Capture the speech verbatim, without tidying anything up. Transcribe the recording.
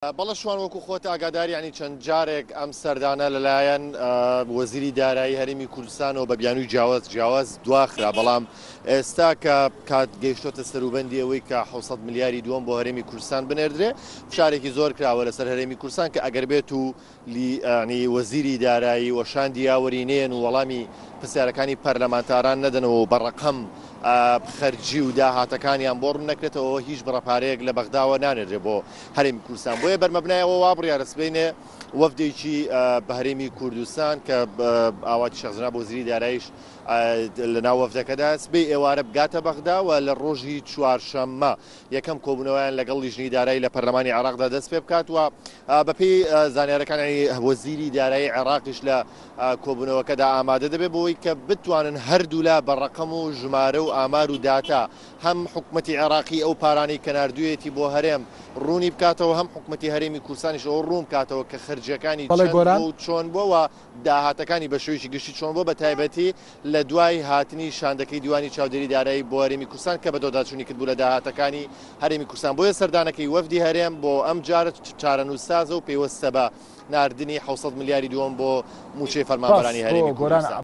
بەڵێ شوان، وەکو خۆت ئاگاداری، ینی چەند جارێک ئەم سەردانە لەلایەن وەزیری دارایی هەرێمی کوردستانەوە بە بیانووی جیاواز جیاواز دواخرا، بەڵام ئێستا کە کات گەیشتۆتە سەروبەندی ئەوەی کە حەوت سەد ملیاری دووەم بۆ هەرێمی کوردستان بنێردرێ، فشارێکی زۆر کراوە لەسەر هەرێمی کوردستان کە ئەگەر بێت و ینی وەزیری دارایی و شاندی یاوەری نێن و وەڵامی پرسیارەکانی پەرلەمانتاران نەدەنەوە و بە ڕەقەم خەرجی و داهاتەکانیان بۆ ڕوون نەکرێتەوە، هیچ بڕە پارەیەک لە بەغداوە نانێرێ بۆ هەرێمی کوردستان. بۆیە بەرمەبنایەوە وا بڕیارە سبەینێ وەفدێکی بە هەرێمی کوردستان کە ئاواتی شێخ جەناب وەزیری داراییش لە ناو وەفدەکەدا سبەی ئێوارە بگاتە بەغدا و لە ڕۆژی چوارشەممە یەکەم کۆبوونەوەیان لەگەڵ لیژنەی دارایی لە پەرلەمانی عێراقدا دەست پێ بکات. و بەپێی زانیارەکانی وەزیری دارایی عێراقیش لە کۆبوونەوەکەدا ئامادە دەبێت بۆی کە بتوانن هەردوولا بە ڕەقەم و ژمارە و ئامار و داتا هەم حکوومەتی عێراقی ئەو پارانەی کە ناردوویەتی بۆ هەرێم ڕوونی بکاتەوە، هەم حکوومەتی هەرێمی کوردستانیش ئەو ڕوون بکاتەوە کە خەرجیەکانی چەند و چۆن بووە و داهاتەکانی بە شێوەیەکی گشتی چۆن بووە، بە تایبەتی لە دوای هاتنی شاندەکەی دیوانی چاودێری دارایی بۆ هەرێمی کوردستان کە بە دۆداچوونی کردبوو لە داهاتەکانی هەرێمی کوردستان. بۆیە سەردانەکەی وەفدی هەرێم بۆ ئەم جارە چارەنووسسازە و پەیوەستە بە ناردنی حەوت سەد ملیاری دووەم بۆ موچەی فەرمانبەرانی هەرێمی کوردستان.